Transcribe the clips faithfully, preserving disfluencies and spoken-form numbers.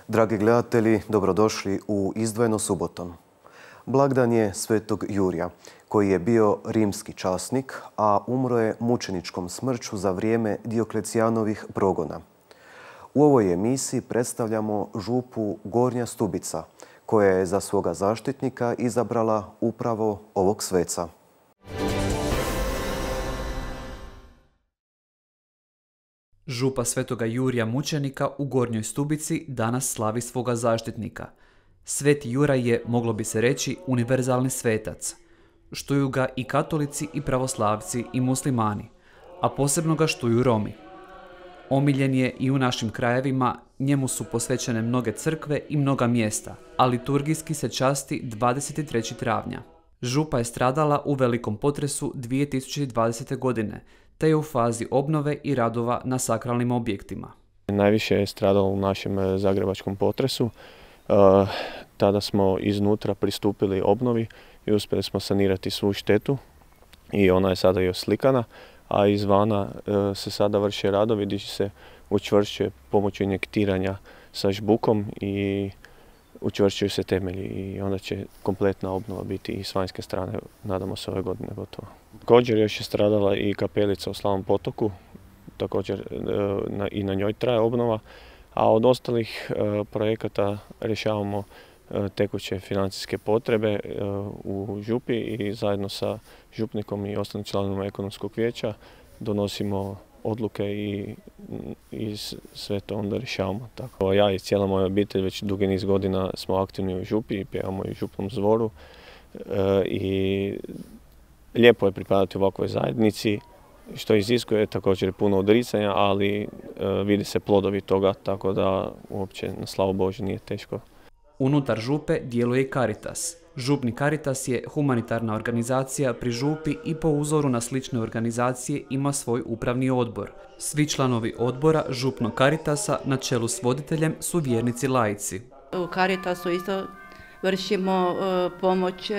Dragi gledatelji, dobrodošli u Izdvojeno subotom. Blagdan je Svetog Jurija, koji je bio rimski časnik, a umro je mučeničkom smrću za vrijeme Dioklecijanovih progona. U ovoj emisiji predstavljamo župu Gornja Stubica, koja je za svoga zaštitnika izabrala upravo ovog sveca. Župa Svetoga Jurija mučenika u Gornjoj Stubici danas slavi svoga zaštitnika. Sveti Juraj je, moglo bi se reći, univerzalni svetac. Štuju ga i katolici i pravoslavci i muslimani, a posebno ga štuju Romi. Omiljen je i u našim krajevima, njemu su posvećene mnoge crkve i mnoga mjesta, a liturgijski se časti dvadeset trećeg travnja. Župa je stradala u velikom potresu dvije tisuće dvadesete. godine, te je u fazi obnove i radova na sakralnim objektima. Najviše je stradalo u našem zagrebačkom potresu. Tada smo iznutra pristupili obnovi i uspjeli smo sanirati svu štetu i ona je sada i oslikana, a izvana se sada vrše radovi gdje se učvršćuje pomoću injektiranja sa žbukom i učvršćuju se temelji i onda će kompletna obnova biti i s vanjske strane, nadamo se, ove godine gotova. Također još je stradala i kapelica u Slavom Potoku, također i na njoj traje obnova, a od ostalih projekata rješavamo tekuće financijske potrebe u župi i zajedno sa župnikom i ostalim članovima ekonomskog vijeća donosimo odluke i, i sve to onda rješavamo. Tako, ja i cijela moja obitelj već dugi niz godina smo aktivni u župi i pjevamo i u župnom zvoru e, i lijepo je pripadati ovakvoj zajednici, što iziskuje također puno odricanja, ali e, vidi se plodovi toga, tako da uopće na slavu Božju nije teško. Unutar župe djeluje i Caritas. Župni Caritas je humanitarna organizacija pri župi i po uzoru na slične organizacije ima svoj upravni odbor. Svi članovi odbora župnog Caritasa na čelu s voditeljem su vjernici laici. U Caritasu isto vršimo uh, pomoć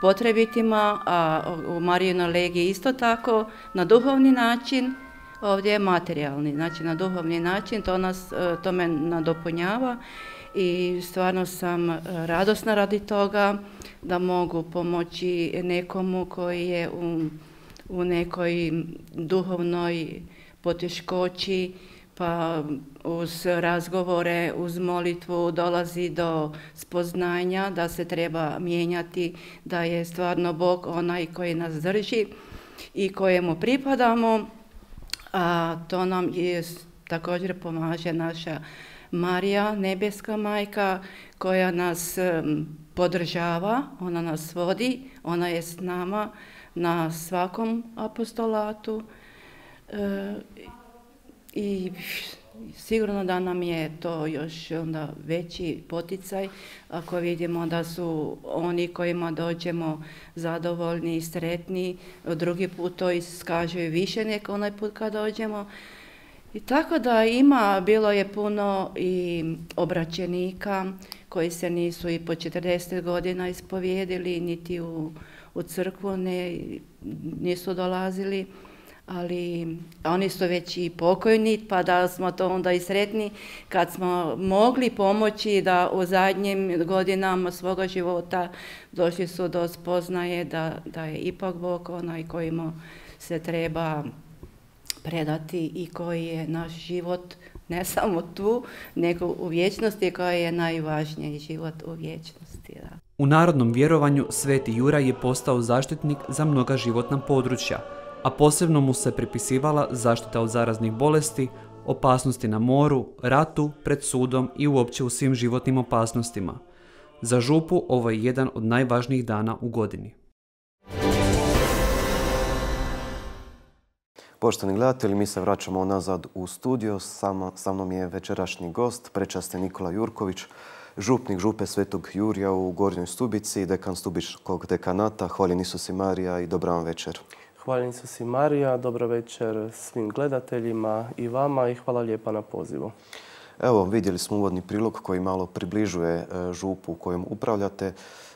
potrebitima, a u Marijinoj legiji isto tako na duhovni način. Ovdje je materijalni, znači na duhovni način, to nas uh, to me nadopunjava. I stvarno sam radosna radi toga da mogu pomoći nekomu koji je u, u nekoj duhovnoj poteškoći, pa uz razgovore, uz molitvu dolazi do spoznanja da se treba mijenjati, da je stvarno Bog onaj koji nas drži i kojemu pripadamo, a to nam je, također pomaže naša Marija, nebeska majka, koja nas podržava, ona nas vodi, ona je s nama na svakom apostolatu e, i sigurno da nam je to još onda veći poticaj ako vidimo da su oni kojima dođemo zadovoljni i sretni, drugi put to iskažu više nego onaj put kad dođemo. I tako da ima, bilo je puno i obraćenika koji se nisu i po četrdeset godina ispovijedili, niti u, u crkvu ne, nisu dolazili, ali oni su već i pokojni, pa da smo to onda i sretni kad smo mogli pomoći da u zadnjim godinama svoga života došli su do spoznaje da, da je ipak Bog onaj kojima se treba predati i koji je naš život ne samo tu, nego u vječnosti, koji je najvažniji život u vječnosti. Da. U narodnom vjerovanju Sveti Juraj je postao zaštitnik za mnoga životna područja, a posebno mu se pripisivala zaštita od zaraznih bolesti, opasnosti na moru, ratu, pred sudom i uopće u svim životnim opasnostima. Za župu ovo je jedan od najvažnijih dana u godini. Poštovani gledatelji, mi se vraćamo nazad u studio. Sama, sa mnom je večerašnji gost, prečasni Nikola Jurković, župnik župe Svetog Jurija u Gornjoj Stubici, dekan Stubičkog dekanata. Hvaljen Isus i Marija i dobra vam večer. Hvaljen Isus i Marija, dobro večer svim gledateljima i vama i hvala lijepa na pozivu. Evo, vidjeli smo uvodni prilog koji malo približuje župu u kojom upravljate.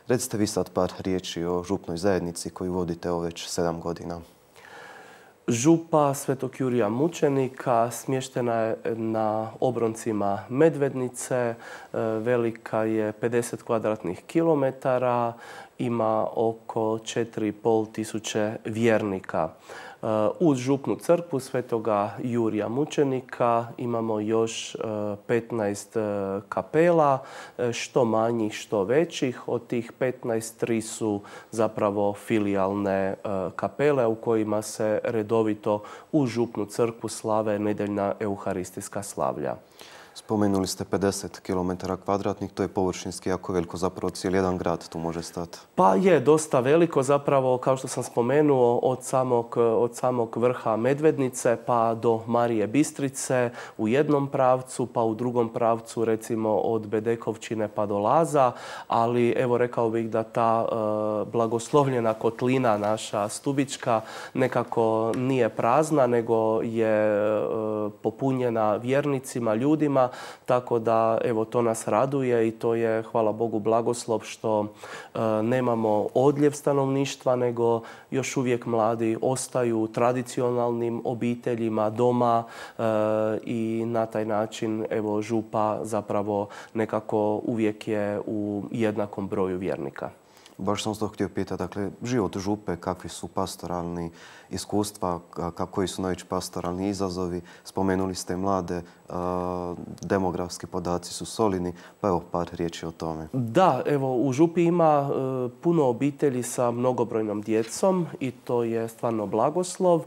Recite vi sad par riječi o župnoj zajednici koju vodite ovo već sedam godina. Župa Svetog Jurija Mučenika smještena je na obroncima Medvednice, velika je pedeset kvadratnih kilometara, ima oko četiri i pol tisuće vjernika. Uz župnu crkvu Svetoga Jurija Mučenika imamo još petnaest kapela, što manjih, što većih. Od tih petnaest, tri su zapravo filijalne kapele u kojima se redovito u župnu crkvu slave nedeljna euharistijska slavlja. Spomenuli ste pedeset kilometara kvadratnih, to je površinski jako veliko, zapravo cijeli jedan grad tu može stati. Pa je dosta veliko, zapravo kao što sam spomenuo, od samog, od samog vrha Medvednice pa do Marije Bistrice u jednom pravcu, pa u drugom pravcu recimo od Bedekovčine pa do Laza, ali evo rekao bih da ta e, blagoslovljena kotlina naša Stubička nekako nije prazna, nego je e, popunjena vjernicima, ljudima. Tako da evo to nas raduje i to je hvala Bogu blagoslov što e, nemamo odljev stanovništva, nego još uvijek mladi ostaju u tradicionalnim obiteljima doma e, i na taj način evo župa zapravo nekako uvijek je u jednakom broju vjernika. Baš sam to htio pitati, dakle, život župe, kakvi su pastoralni iskustva, koji su najveći pastoralni izazovi, spomenuli ste mlade, demografski podaci su solidni, pa evo par riječi o tome. Da, evo u župi ima puno obitelji sa mnogobrojnom djecom i to je stvarno blagoslov.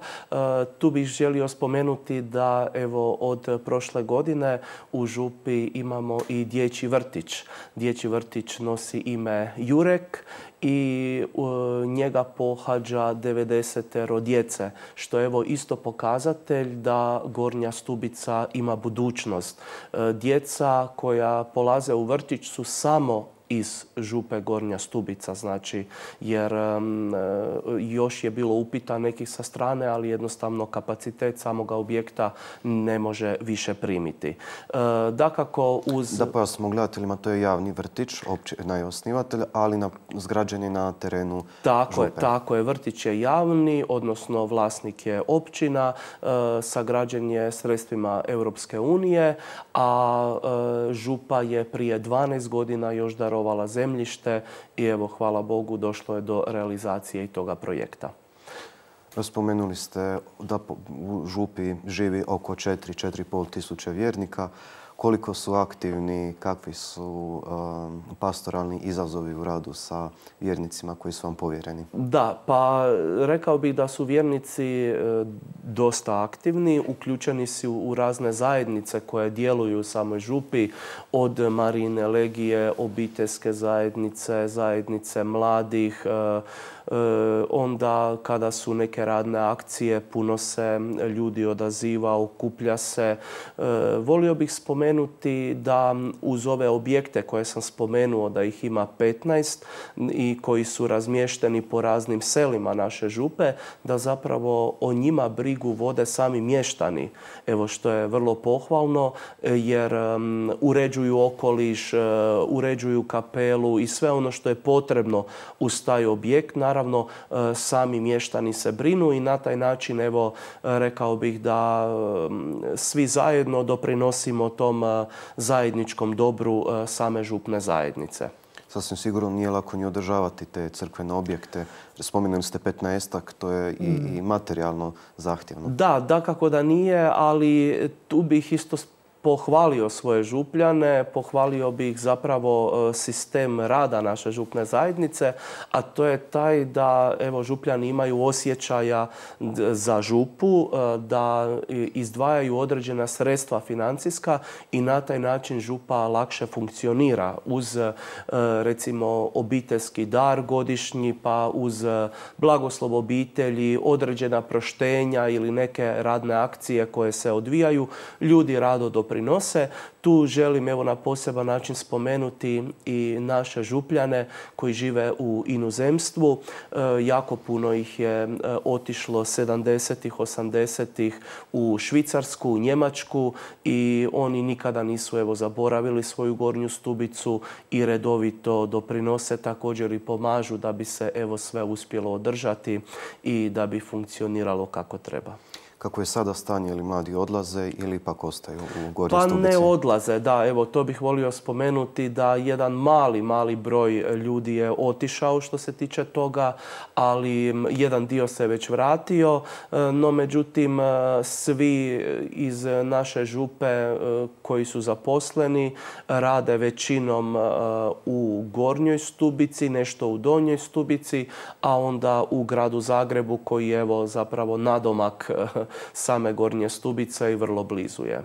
Tu bih želio spomenuti da evo od prošle godine u župi imamo i dječji vrtić. Dječji vrtić nosi ime Jurek i njega pohađa devedesetero djece, što je evo isto pokazatelj da Gornja Stubica ima budućnost. Djeca koja polaze u vrtić su samo iz župe Gornja Stubica, znači, jer um, još je bilo upita nekih sa strane, ali jednostavno kapacitet samoga objekta ne može više primiti. E, dakako uz... Da pojasnimo gledateljima, to je javni vrtić, općina je osnivatelj, ali na, zgrađen je na terenu tako župe. Je, tako je, vrtić je javni, odnosno vlasnik je općina, e, sagrađen je sredstvima Europske unije, a e, župa je prije dvanaest godina još darovala zemljište i evo, hvala Bogu, došlo je do realizacije i toga projekta. Spomenuli ste da u župi živi oko četiri do četiri i pol tisuće vjernika. Koliko su aktivni, kakvi su um, pastoralni izazovi u radu sa vjernicima koji su vam povjereni? Da, pa rekao bih da su vjernici e, dosta aktivni, uključeni su u razne zajednice koje djeluju u samoj župi, od Marijine legije, obiteljske zajednice, zajednice mladih, e, onda kada su neke radne akcije, puno se ljudi odaziva, okuplja se. Volio bih spomenuti da uz ove objekte koje sam spomenuo, da ih ima petnaest i koji su razmješteni po raznim selima naše župe, da zapravo o njima brigu vode sami mještani. Evo što je vrlo pohvalno jer uređuju okoliš, uređuju kapelu i sve ono što je potrebno uz taj objekt. Naravno, sami mještani se brinu i na taj način, evo, rekao bih da svi zajedno doprinosimo tom zajedničkom dobru same župne zajednice. Sasvim sigurno nije lako ni održavati te crkvene objekte. Spomenuli ste petnaestak, to je i, mm. i materijalno zahtjevno. Da, dakako da nije, ali tu bih isto pohvalio svoje župljane, pohvalio bih zapravo sistem rada naše župne zajednice, a to je taj da evo, župljani imaju osjećaja za župu, da izdvajaju određena sredstva financijska i na taj način župa lakše funkcionira uz recimo obiteljski dar godišnji, pa uz blagoslov obitelji, određena proštenja ili neke radne akcije koje se odvijaju. Ljudi rado doprinosu doprinose. Tu želim evo na poseban način spomenuti i naše župljane koji žive u inozemstvu. Jako puno ih je otišlo sedamdesetih, osamdesetih u Švicarsku, u Njemačku i oni nikada nisu evo zaboravili svoju Gornju Stubicu i redovito doprinose, također i pomažu da bi se evo sve uspjelo održati i da bi funkcioniralo kako treba. Kako je sada stanje, ili mladi odlaze ili ipak ostaju u Gornjoj Pa Stubici? ne odlaze, da. Evo, to bih volio spomenuti da jedan mali, mali broj ljudi je otišao što se tiče toga, ali jedan dio se već vratio. No, međutim, svi iz naše župe koji su zaposleni rade većinom u Gornjoj Stubici, nešto u Donjoj Stubici, a onda u gradu Zagrebu koji je evo zapravo nadomak same Gornje Stubice i vrlo blizu je.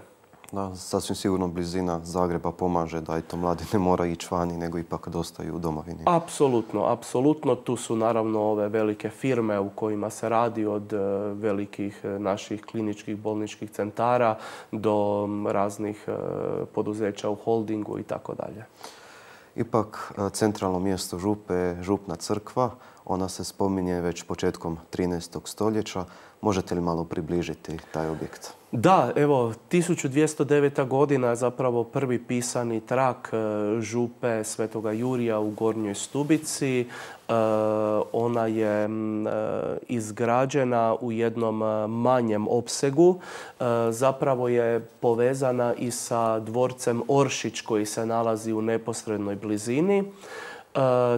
Da, sasvim sigurno blizina Zagreba pomaže da i to mladi ne mora ići vani, nego ipak da ostaju u domovini. Apsolutno, apsolutno. Tu su naravno ove velike firme u kojima se radi, od velikih naših kliničkih bolničkih centara do raznih poduzeća u holdingu i tako dalje. Ipak centralno mjesto župe je župna crkva. Ona se spominje već početkom trinaestog stoljeća. Možete li malo približiti taj objekt? Da, evo, tisuću dvjesto deveta godina je zapravo prvi pisani trak župe Svetoga Jurija u Gornjoj Stubici. Ona je izgrađena u jednom manjem opsegu. Zapravo je povezana i sa dvorcem Oršić koji se nalazi u neposrednoj blizini.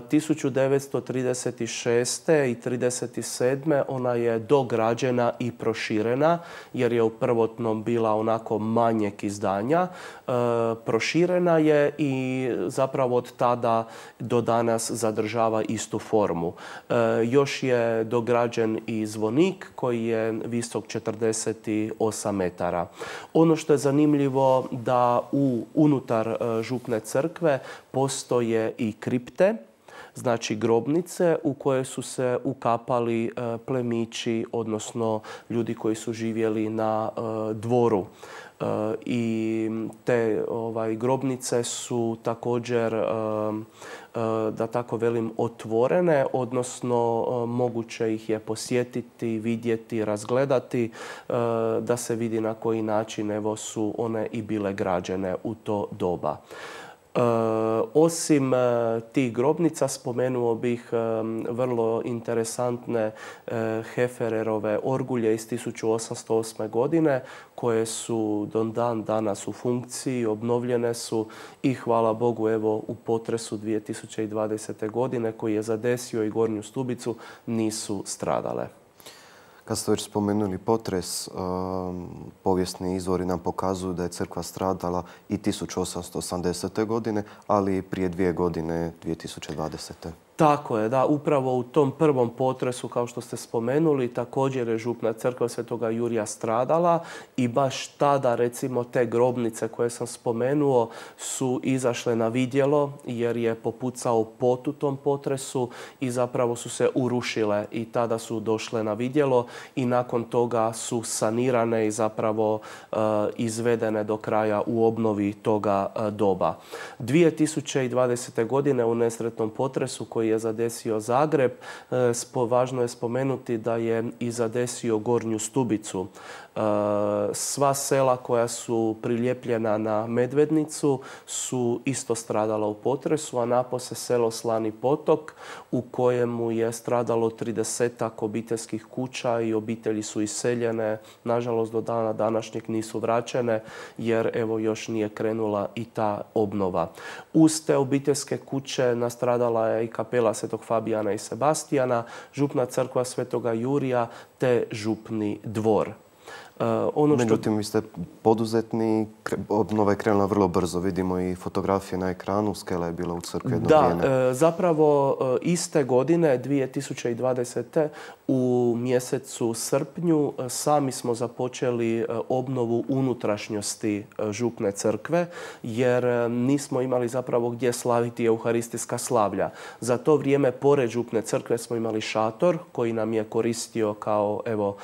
tisuću devetsto trideset šeste i trideset sedme ona je dograđena i proširena jer je u prvotnom bila onako manjeg izdanja. Proširena je i zapravo od tada do danas zadržava istu formu. Još je dograđen i zvonik koji je visok četrdeset osam metara. Ono što je zanimljivo da u unutar župne crkve postoje i kripte, znači grobnice u koje su se ukapali plemići, odnosno ljudi koji su živjeli na dvoru. I te ovaj, grobnice su također, da tako velim, otvorene, odnosno moguće ih je posjetiti, vidjeti, razgledati, da se vidi na koji način evo su one i bile građene u to doba. E, osim e, tih grobnica spomenuo bih e, vrlo interesantne e, Hefererove orgulje iz tisuću osamsto osme. godine koje su do dan danas u funkciji, obnovljene su i hvala Bogu evo u potresu dvije tisuće dvadesete. godine koji je zadesio i Gornju Stubicu nisu stradale. Kad ste već spomenuli potres, povijesni izvori nam pokazuju da je crkva stradala i tisuću osamsto osamdesete. godine, ali i prije dvije godine, dvije tisuće dvadesete. Tako je, da. Upravo u tom prvom potresu, kao što ste spomenuli, također je župna crkva Svetoga Jurija stradala i baš tada, recimo, te grobnice koje sam spomenuo su izašle na vidjelo jer je popucao pot u tom potresu i zapravo su se urušile i tada su došle na vidjelo i nakon toga su sanirane i zapravo uh, izvedene do kraja u obnovi toga uh, doba. dvije tisuće dvadesete. godine u nesretnom potresu koji je zadesio Zagreb, važno je spomenuti da je i zadesio Gornju Stubicu. Sva sela koja su prilijepljena na Medvednicu su isto stradala u potresu, a napose selo Slani Potok u kojemu je stradalo tridesetak obiteljskih kuća i obitelji su iseljene. Nažalost, do dana današnjeg nisu vraćene jer evo još nije krenula i ta obnova. Uz te obiteljske kuće nastradala je i kapela Svetog Fabijana i Sebastijana, župna crkva Svetoga Jurija te župni dvor. Uh, ono što... Međutim, vi ste poduzetni, obnova je krenula vrlo brzo. Vidimo i fotografije na ekranu, skela je bila u crkvi jedno da, vrijeme. Da, zapravo iste godine, dvije tisuće dvadesete. u mjesecu srpnju sami smo započeli obnovu unutrašnjosti župne crkve jer nismo imali zapravo gdje slaviti euharistijska slavlja. Za to vrijeme pored župne crkve smo imali šator koji nam je koristio kao evo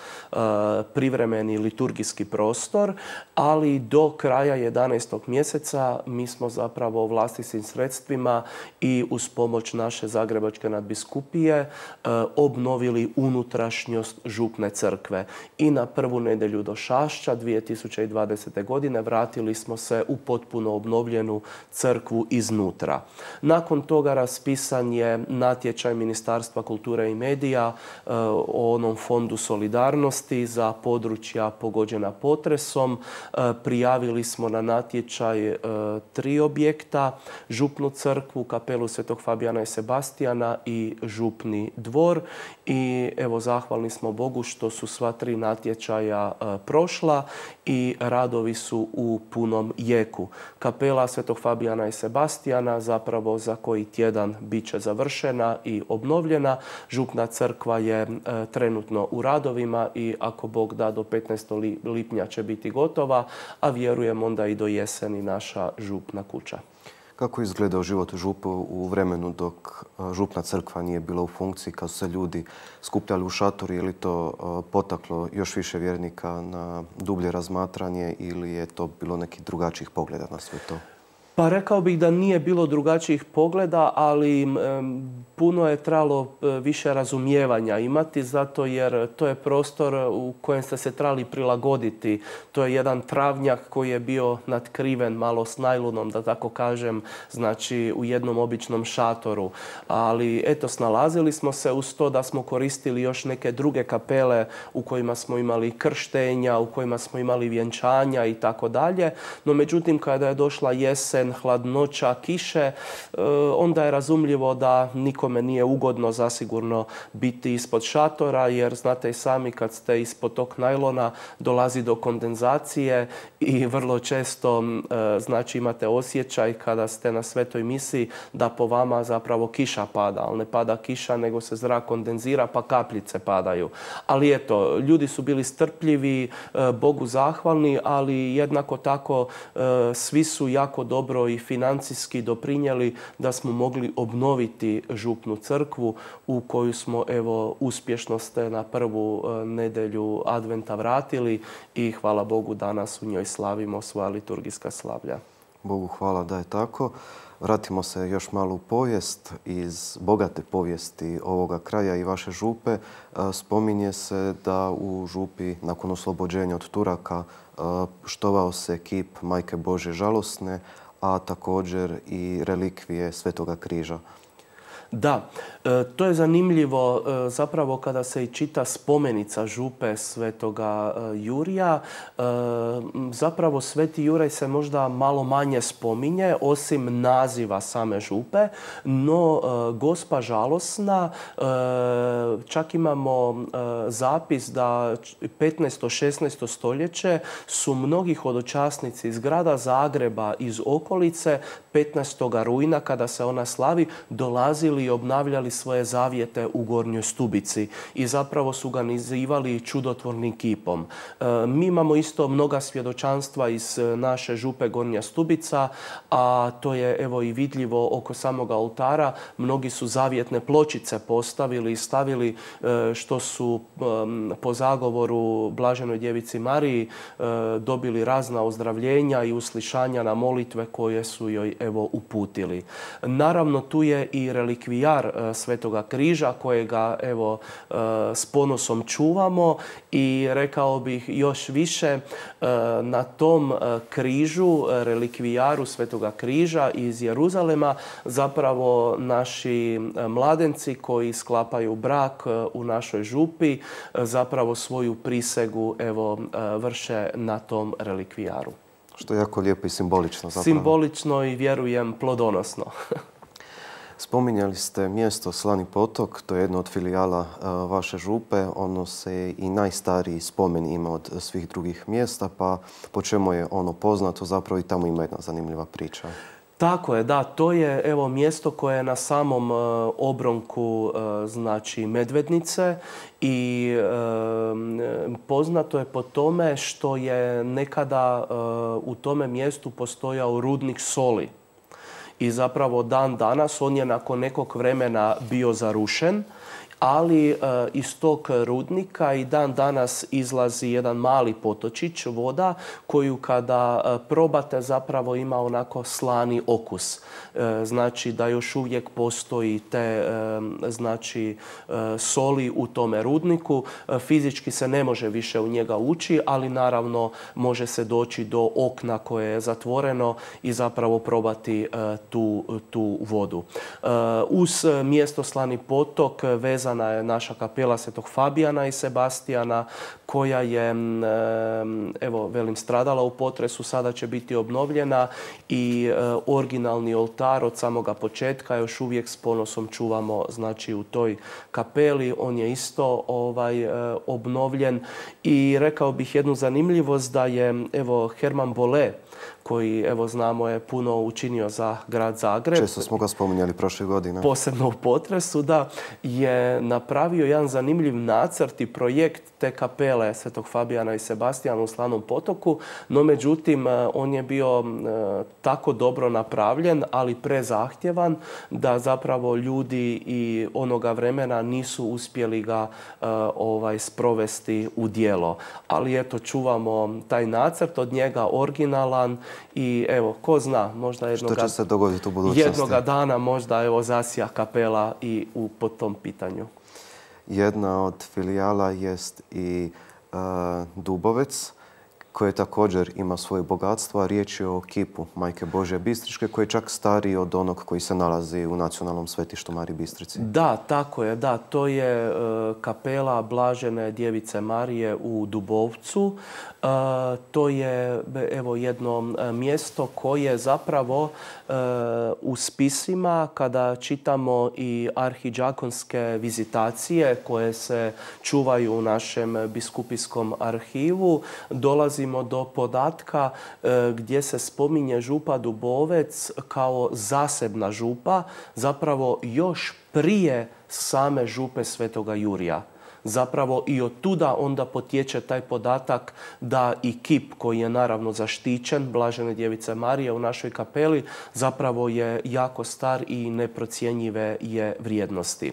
privremeni liturgijski prostor, ali do kraja jedanaestog mjeseca mi smo zapravo vlastitim sredstvima i uz pomoć naše Zagrebačke nadbiskupije e, obnovili unutrašnjost župne crkve. I na prvu nedjelju do Šašća dvije tisuće dvadesete. godine vratili smo se u potpuno obnovljenu crkvu iznutra. Nakon toga raspisan je natječaj Ministarstva kulture i medija e, o onom fondu solidarnosti za područja pogođena potresom. E, prijavili smo na natječaj e, tri objekta, župnu crkvu, kapelu Svetog Fabijana i Sebastijana i župni dvor. I evo, zahvalni smo Bogu što su sva tri natječaja e, prošla i radovi su u punom jeku. Kapela Svetog Fabijana i Sebastijana zapravo za koji tjedan bit će završena i obnovljena. Župna crkva je e, trenutno u radovima i ako Bog da do petnaestog lipnja će biti gotova, a vjerujem onda i do jeseni naša župna kuća. Kako je izgledao život u župu u vremenu dok župna crkva nije bila u funkciji, kad su se ljudi skupljali u šatori? Je li to potaklo još više vjernika na dublje razmatranje ili je to bilo nekih drugačijih pogleda na sve to? Pa rekao bih da nije bilo drugačijih pogleda, ali um, puno je trebalo više razumijevanja imati, zato jer to je prostor u kojem ste se trebali prilagoditi. To je jedan travnjak koji je bio natkriven malo s najlunom, da tako kažem, znači u jednom običnom šatoru. Ali eto, snalazili smo se uz to da smo koristili još neke druge kapele u kojima smo imali krštenja, u kojima smo imali vjenčanja i tako dalje. No međutim, kada je došla jesen, hladnoća, kiše, onda je razumljivo da nikome nije ugodno zasigurno biti ispod šatora, jer znate i sami kad ste ispod tog najlona dolazi do kondenzacije i vrlo često znači imate osjećaj kada ste na svetoj misi da po vama zapravo kiša pada, ali ne pada kiša nego se zrak kondenzira pa kapljice padaju. Ali eto, ljudi su bili strpljivi, Bogu zahvalni, ali jednako tako svi su jako dobro i financijski doprinijeli da smo mogli obnoviti župnu crkvu u koju smo evo uspješno ste na prvu nedjelju adventa vratili i hvala Bogu danas u njoj slavimo svoja liturgijska slavlja. Bogu hvala da je tako. Vratimo se još malo u povijest. Iz bogate povijesti ovoga kraja i vaše župe spominje se da u župi nakon oslobođenja od Turaka štovao se kip Majke Božje žalosne, a također i relikvije Svetoga križa. Da, to je zanimljivo zapravo kada se i čita spomenica župe Svetoga Jurija. Zapravo Sveti Juraj se možda malo manje spominje, osim naziva same župe, no Gospa žalosna, čak imamo zapis da petnaesto šesnaesto stoljeće su mnogi hodočasnici iz grada Zagreba, iz okolice, petnaestog rujna kada se ona slavi, dolazili i obnavljali svoje zavjete u Gornjoj Stubici i zapravo su ga nazivali čudotvornim kipom. E, mi imamo isto mnoga svjedočanstva iz naše župe Gornja Stubica, a to je evo i vidljivo oko samog oltara. Mnogi su zavjetne pločice postavili i stavili e, što su e, po zagovoru Blaženoj Djevici Mariji e, dobili razna ozdravljenja i uslišanja na molitve koje su joj evo uputili. Naravno, tu je i relikvijar Svetoga križa kojega evo s ponosom čuvamo i rekao bih još više na tom križu, relikvijaru Svetoga križa iz Jeruzalema zapravo naši mladenci koji sklapaju brak u našoj župi zapravo svoju prisegu evo vrše na tom relikvijaru. Što je jako lijepo i simbolično zapravo. Simbolično i vjerujem plodonosno. Spominjali ste mjesto Slani potok, to je jedno od filijala vaše župe. Ono se i najstariji spomen ima od svih drugih mjesta, pa po čemu je ono poznato, zapravo i tamo ima jedna zanimljiva priča. Tako je, da, to je evo mjesto koje je na samom e, obronku e, znači Medvednice i e, poznato je po tome što je nekada e, u tome mjestu postojao rudnik soli. I zapravo dan danas on je nakon nekog vremena bio zarušen, ali iz tog rudnika i dan danas izlazi jedan mali potočić voda koju kada probate zapravo ima onako slani okus. Znači da još uvijek postoji te znači soli u tome rudniku. Fizički se ne može više u njega ući, ali naravno može se doći do okna koje je zatvoreno i zapravo probati tu, tu vodu. Uz mjesto Slani potok vezana je naša kapela Svetog Fabijana i Sebastijana koja je, evo, velim, stradala u potresu, sada će biti obnovljena i originalni oltar od samoga početka još uvijek s ponosom čuvamo, znači, u toj kapeli. On je isto ovaj, obnovljen i rekao bih jednu zanimljivost da je, evo, Herman Bolle, koji, evo, znamo je puno učinio za grad Zagreb. Često smo ga spominjali prošle godine. Posebno u potresu, da, je napravio jedan zanimljiv nacrt i projekt te kapele Svetog Fabijana i Sebastijana u Slanom potoku, no međutim on je bio tako dobro napravljen, ali prezahtjevan da zapravo ljudi i onoga vremena nisu uspjeli ga ovaj, sprovesti u djelo. Ali eto, čuvamo taj nacrt od njega, originalan, i evo, ko zna, možda jednoga, što će se dogoditi u budućnosti? Jednoga dana možda, evo, zasija kapela i u, po tom pitanju. Jedna od filijala jest i uh, Dubovec, koje također ima svoje bogatstvo, a riječ je o kipu Majke Božje Bistričke, koji je čak stariji od onog koji se nalazi u nacionalnom svetištu Mariji Bistrici. Da, tako je, da. To je uh, kapela Blažene Djevice Marije u Dubovcu. Uh, to je, evo, jedno uh, mjesto koje zapravo uh, u spisima, kada čitamo i arhidžakonske vizitacije koje se čuvaju u našem biskupijskom arhivu, dolazi do podatka gdje se spominje župa Dubovec kao zasebna župa, zapravo još prije same župe Svetoga Jurija. Zapravo i od tuda onda potječe taj podatak da i kip koji je naravno zaštićen Blažene Djevice Marije u našoj kapeli zapravo je jako star i neprocjenjive je vrijednosti.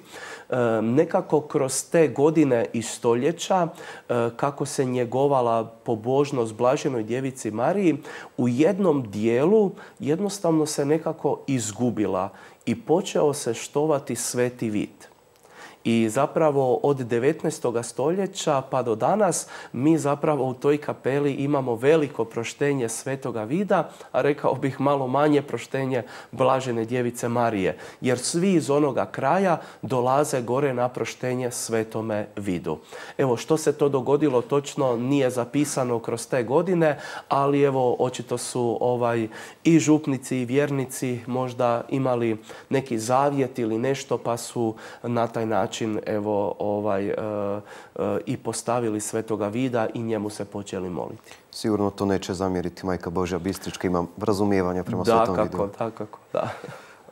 E, nekako kroz te godine i stoljeća e, kako se njegovala pobožnost Blaženoj Djevici Mariji, u jednom dijelu jednostavno se nekako izgubila i počeo se štovati Sveti Vid. I zapravo od devetnaestog stoljeća pa do danas mi zapravo u toj kapeli imamo veliko proštenje Svetoga Vida, a rekao bih malo manje proštenje Blažene Djevice Marije. Jer svi iz onoga kraja dolaze gore na proštenje Svetome Vidu. Evo, što se to dogodilo točno nije zapisano kroz te godine, ali evo, očito su ovaj, i župnici i vjernici možda imali neki zavjet ili nešto, pa su na taj način evo, ovaj, e, e, i postavili Svetoga Vida i njemu se počeli moliti. Sigurno to neće zamjeriti Majka Božja Bistrička, ima razumijevanja prema Svetom Vidu. Da, kako, kako, da.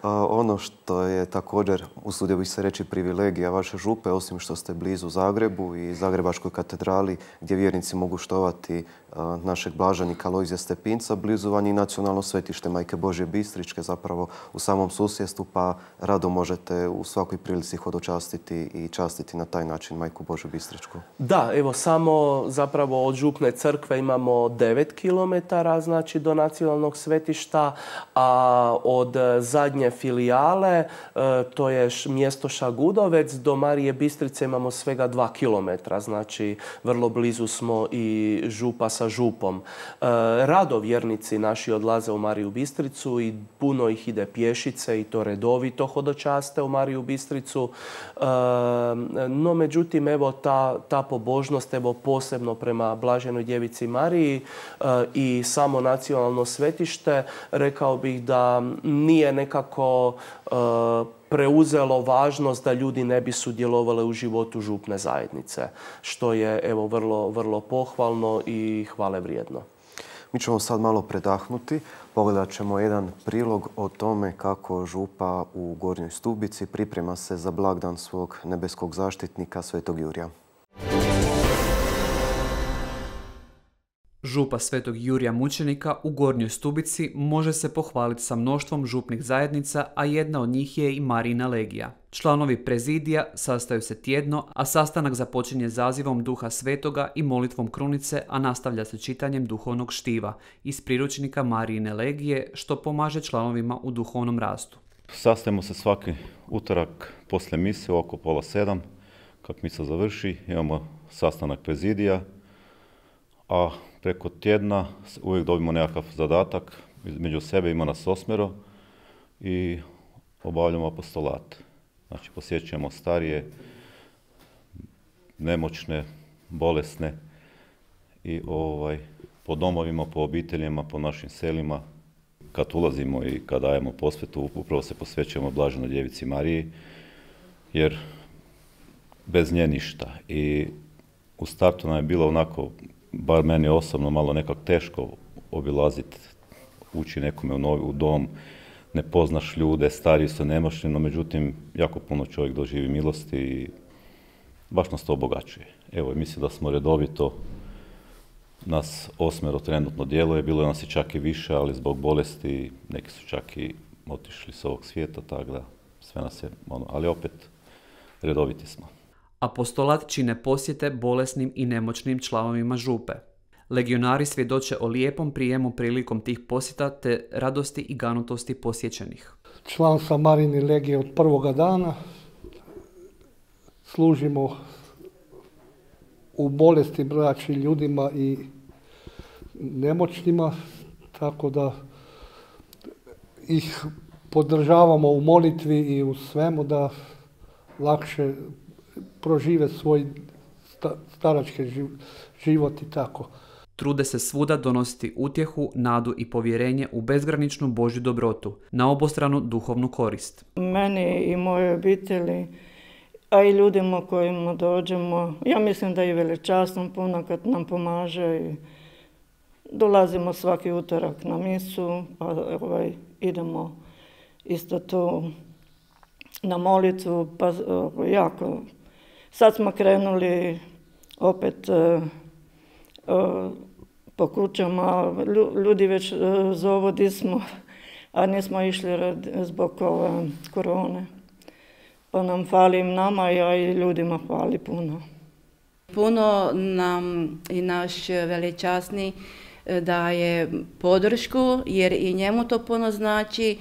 A, ono što je također, usudio bih se reći, privilegija vaše župe, osim što ste blizu Zagrebu i Zagrebačkoj katedrali gdje vjernici mogu štovati a, našeg blaženika Alojzija Stepinca, blizu vam i nacionalno svetište Majke Božje Bistričke, zapravo u samom susjedstvu, pa rado možete u svakoj prilici hodočastiti i častiti na taj način Majku Božju Bistričku. Da, evo, samo zapravo od župne crkve imamo devet kilometara, znači, do nacionalnog svetišta, a od zadnje filijale, to je mjesto Šagudovec, do Marije Bistrice imamo svega dva kilometra, znači vrlo blizu smo i župa sa župom. Rado vjernici naši odlaze u Mariju Bistricu i puno ih ide pješice i to redovito hodočaste u Mariju Bistricu. No, međutim, evo, ta, ta pobožnost, evo, posebno prema Blaženoj Djevici Mariji i samo nacionalno svetište, rekao bih da nije nekako preuzelo važnost da ljudi ne bi sudjelovali u životu župne zajednice, što je, evo, vrlo, vrlo pohvalno i hvale vrijedno. Mi ćemo sad malo predahnuti. Pogledat ćemo jedan prilog o tome kako župa u Gornjoj Stubici priprema se za blagdan svog nebeskog zaštitnika Svetog Jurija. Župa Svetog Jurija Mučenika u Gornjoj Stubici može se pohvaliti sa mnoštvom župnih zajednica, a jedna od njih je i Marijina legija. Članovi prezidija sastaju se tjedno, a sastanak započinje zazivom Duha Svetoga i molitvom krunice, a nastavlja se čitanjem duhovnog štiva iz priručnika Marijine legije, što pomaže članovima u duhovnom rastu. Sastajemo se svaki utorak poslije mise oko pola sedam, kad misa završi, imamo sastanak prezidija, a preko tjedna uvijek dobimo nekakav zadatak, među sebe ima nas osmero i obavljamo apostolat. Znači posjećujemo starije, nemoćne, bolesne i ovaj, po domovima, po obiteljima, po našim selima. Kad ulazimo i kad dajemo posvetu, upravo se posvećujemo Blaženoj Djevici Mariji, jer bez nje ništa. I u startu nam je bilo onako, bar meni osobno, malo nekako teško obilaziti, ući nekome u, novi, u dom, ne poznaš ljude, stariji su nemoćni, no međutim, jako puno čovjek doživi milosti i baš nas to obogaćuje. Evo, mislim da smo redovito, nas osmero trenutno djeluje, bilo je nas i čak i više, ali zbog bolesti neki su čak i otišli s ovog svijeta, tako da sve nas je, ono, ali opet redoviti smo. Apostolat čine posjete bolesnim i nemoćnim članovima župe. Legionari svjedoče o lijepom prijemu prilikom tih posjeta te radosti i ganutosti posjećenih. Član sam Marijine legije od prvoga dana. Služimo u bolesti braći ljudima i nemoćnima, tako da ih podržavamo u molitvi i u svemu da lakše prožive svoj starački život i tako. Trude se svuda donositi utjehu, nadu i povjerenje u bezgraničnu Božju dobrotu, na obostranu duhovnu korist. Meni i moje obitelji, a i ljudima kojima dođemo, ja mislim da je velečasno puno kad nam pomaže i dolazimo svaki utorak na misu, pa ovaj, idemo isto tu na molitvu, pa jako. Sad smo krenuli opet uh, uh, po kućama, ljudi već uh, zovu di smo, a nismo išli rad, zbog ove korone. Pa nam fali nama, a i ljudima fali puno. Puno nam i naš velečasni daje podršku, jer i njemu to puno znači,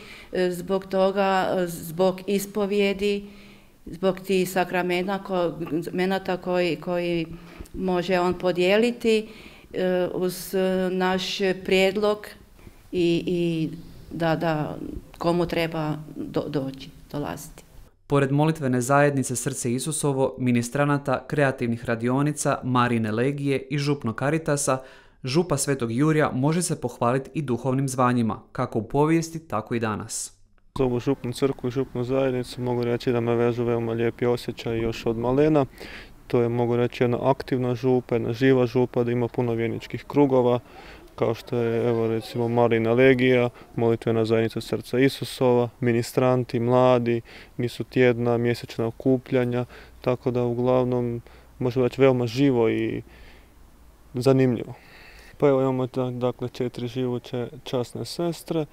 zbog toga, zbog ispovjedi, zbog tih sakramenata koji, koji može on podijeliti uz naš prijedlog i, i da, da komu treba do, doći, dolaziti. Pored molitvene zajednice Srce Isusovo, ministranata, kreativnih radionica, Marijine legije i župnog Karitasa, župa Svetog Jurija može se pohvaliti i duhovnim zvanjima, kako u povijesti, tako i danas. Za ovu župnu crkvu i župnu zajednicu mogu reći da me vežu veoma lijepi osjećaj još od malena. To je, mogu reći, jedna aktivna župa, jedna živa župa, da ima puno vjerničkih krugova, kao što je, evo, recimo, Marijina legija, molitvena zajednica Srca Isusova, ministranti, mladi, misu tjedna, mjesečna okupljanja, tako da uglavnom možemo reći veoma živo i zanimljivo. Pa evo imamo dakle četiri živuće časne sestre,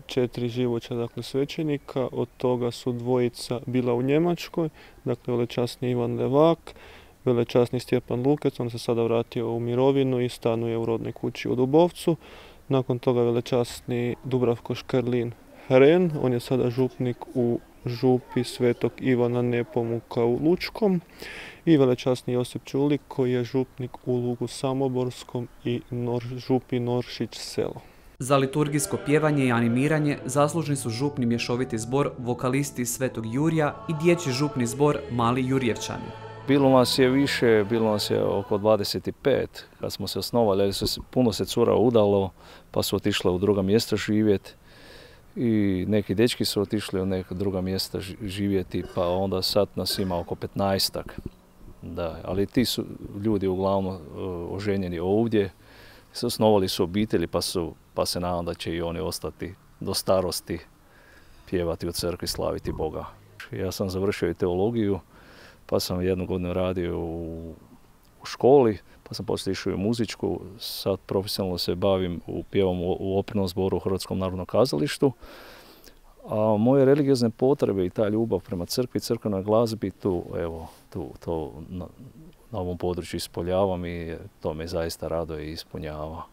četiri živuća dakle svećenika, od toga su dvojica bila u Njemačkoj, dakle velečasni Ivan Levak, velečasni Stjepan Lukec, on se sada vratio u mirovinu i stanuje u rodnoj kući u Dubovcu. Nakon toga velečasni Dubravko Škerlin Hren, on je sada župnik u župi Svetog Ivana Nepomuka u Lučkom, i velečasni Josip Čulik koji je župnik u Lugu Samoborskom i Nor, župi Noršić selo. Za liturgijsko pjevanje i animiranje zaslužni su župni mješoviti zbor, vokalisti Svetog Jurija i dječji župni zbor Mali Jurjevčani. Bilo nas je više, bilo nas je oko dvadeset pet kad smo se osnovali, puno se cura udalo pa su otišle u druga mjesta živjeti. I neki dečki su otišli u neka druga mjesta živjeti, pa onda sad nas ima oko petnaestak. Da, ali ti su ljudi uglavnom uh, oženjeni ovdje, osnovali su obitelji, pa, su, pa se nadam da će i oni ostati do starosti pjevati u crkvi, slaviti Boga. Ja sam završio i teologiju, pa sam jednu godinu radio u, u u školi, pa sam poslije išao i u muzičku. Sad profesionalno se bavim u pjevom u opernom zboru u Hrvatskom narodnom kazalištu. A moje religiozne potrebe i ta ljubav prema crkvi, crkvenoj glazbi, tu, evo, tu, to na, na ovom području ispoljavam i to me zaista raduje i ispunjava.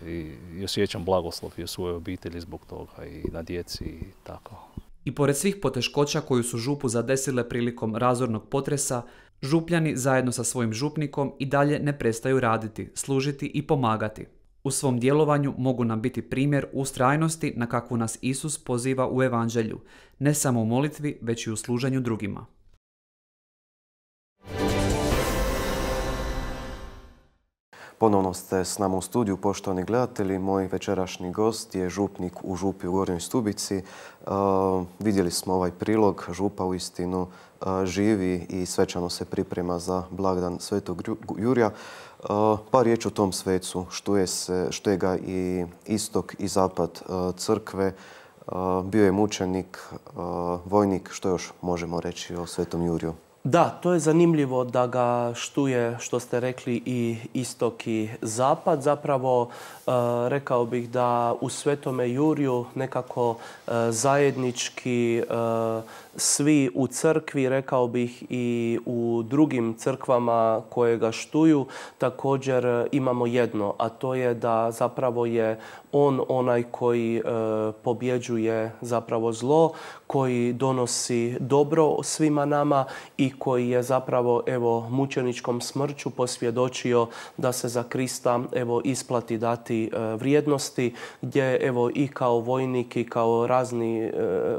I, i osjećam blagoslov i u svojoj obitelji zbog toga i na djeci i tako. I pored svih poteškoća koju su župu zadesile prilikom razornog potresa, župljani zajedno sa svojim župnikom i dalje ne prestaju raditi, služiti i pomagati. U svom djelovanju mogu nam biti primjer ustrajnosti na kakvu nas Isus poziva u Evanđelju, ne samo u molitvi, već i u služenju drugima. Ponovno ste s nama u studiju, poštovani gledatelji. Moj večerašnji gost je župnik u župi u Gornjoj Stubici. Uh, vidjeli smo ovaj prilog. Župa uistinu uh, živi i svečano se priprema za blagdan Svetog Jurja. Uh, par riječi o tom svecu, što je, se, što je ga i istok i zapad uh, crkve. Uh, bio je mučenik, uh, vojnik. Što još možemo reći o Svetom Juriju? Da, to je zanimljivo da ga štuje, što ste rekli, i istok i zapad. Zapravo, uh, rekao bih da u Svetome Juriju nekako uh, zajednički uh, svi u crkvi, rekao bih i u drugim crkvama koje ga štuju, također imamo jedno, a to je da zapravo je on onaj koji e, pobjeđuje zapravo zlo, koji donosi dobro svima nama i koji je zapravo evo mučeničkom smrću posvjedočio da se za Krista evo isplati dati e, vrijednosti, gdje evo i kao vojnik i kao razni e,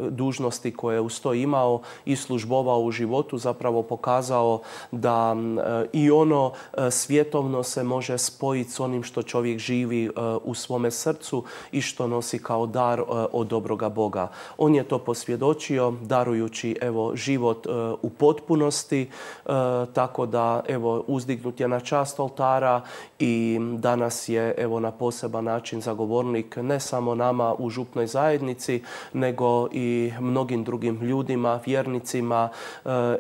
dužnosti koje uz to imao i službovao u životu, zapravo pokazao da e, i ono e, svjetovno se može spojiti s onim što čovjek živi e, u svome srcu i što nosi kao dar od dobroga Boga. On je to posvjedočio darujući evo život u potpunosti, tako da evo uzdignut je na čast oltara i danas je evo na poseban način zagovornik ne samo nama u župnoj zajednici, nego i mnogim drugim ljudima, vjernicima,